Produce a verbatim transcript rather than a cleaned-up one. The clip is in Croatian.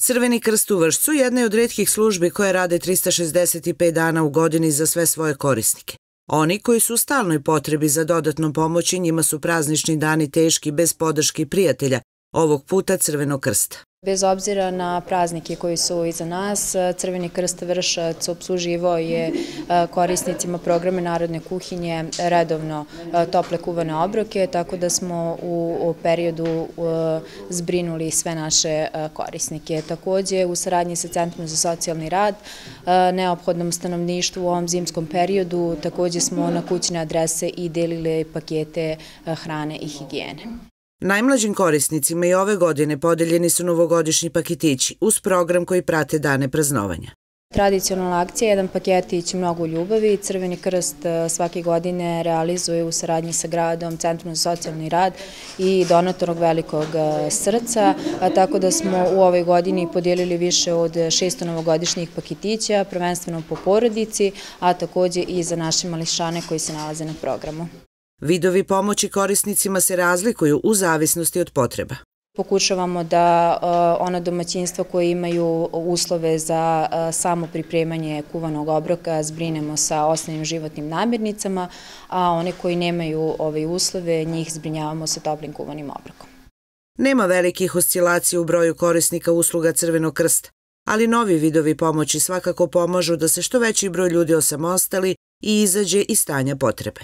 Crveni krst u Vršcu jedna je od retkih službi koje rade trista šezdeset pet dana u godini za sve svoje korisnike. Oni koji su u stalnoj potrebi za dodatnom pomoći, njima su praznični dani teški bez podrške prijatelja, ovog puta Crvenog krsta. Bez obzira na praznike koji su iza nas, Crveni krst Vršac opsluživao je korisnicima programe Narodne kuhinje redovno tople kuvane obroke, tako da smo u periodu zbrinuli sve naše korisnike. Takođe, u saradnji sa Centrom za socijalni rad, neophodnom stanovništvu u ovom zimskom periodu, takođe smo na kućne adrese i delili pakete hrane i higijene. Najmlađim korisnicima i ove godine podeljeni su novogodišnji paketići uz program koji prate dane praznovanja. Tradicionalna akcija, jedan paketić mnogo ljubavi. Crveni krst svake godine realizuje u saradnji sa gradom, Centrom za socijalni rad i donatorog velikog srca, tako da smo u ovoj godini podijelili više od šesto novogodišnjih paketića, prvenstveno po porodici, a takođe i za naše mališane koji se nalaze na programu. Vidovi pomoći korisnicima se razlikuju u zavisnosti od potreba. Pokušavamo da ona domaćinstva koje imaju uslove za samo pripremanje kuvanog obroka zbrinemo sa osnovnim životnim namirnicama, a one koji nemaju ove uslove, njih zbrinjavamo sa toplim kuvanim obrokom. Nema velikih oscilacija u broju korisnika usluga Crvenog krsta, ali novi vidovi pomoći svakako pomažu da se što veći broj ljudi osamostali i izađe iz stanja potrebe.